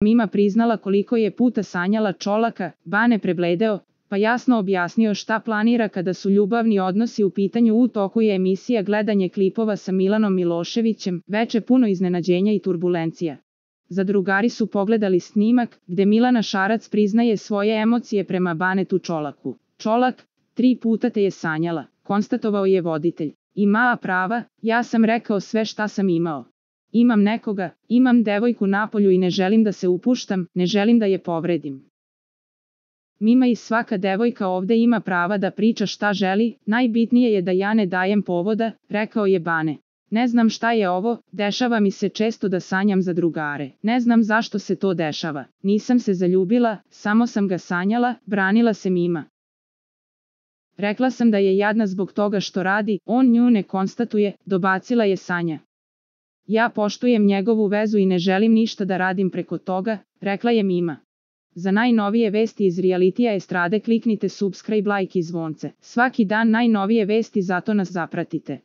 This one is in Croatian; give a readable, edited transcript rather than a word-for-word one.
Mima priznala koliko je puta sanjala Čolaka, Bane prebledeo, pa jasno objasnio šta planira kada su ljubavni odnosi u pitanju. U toku je emisija gledanje klipova sa Milanom Miloševićem, veče puno iznenađenja i turbulencija. Zadrugari su pogledali snimak, gde Milana Šarac priznaje svoje emocije prema Banetu Čolaku. Čolak, 3 puta te je sanjala, konstatovao je voditelj. Ima prava, ja sam rekao sve šta sam imao. Imam nekoga, imam devojku napolju i ne želim da se upuštam, ne želim da je povredim. Mima i svaka devojka ovde ima prava da priča šta želi, najbitnije je da ja ne dajem povoda, rekao je Bane. Ne znam šta je ovo, dešava mi se često da sanjam za drugare. Ne znam zašto se to dešava. Nisam se zaljubila, samo sam ga sanjala, branila se Mima. Rekla sam da je jadna zbog toga što radi, on nju ne konstatuje, dobacila je Sanja. Ja poštujem njegovu vezu i ne želim ništa da radim preko toga, rekla je Mima. Za najnovije vesti iz realitija estrade kliknite subscribe, like i zvonce. Svaki dan najnovije vesti, zato nas zapratite.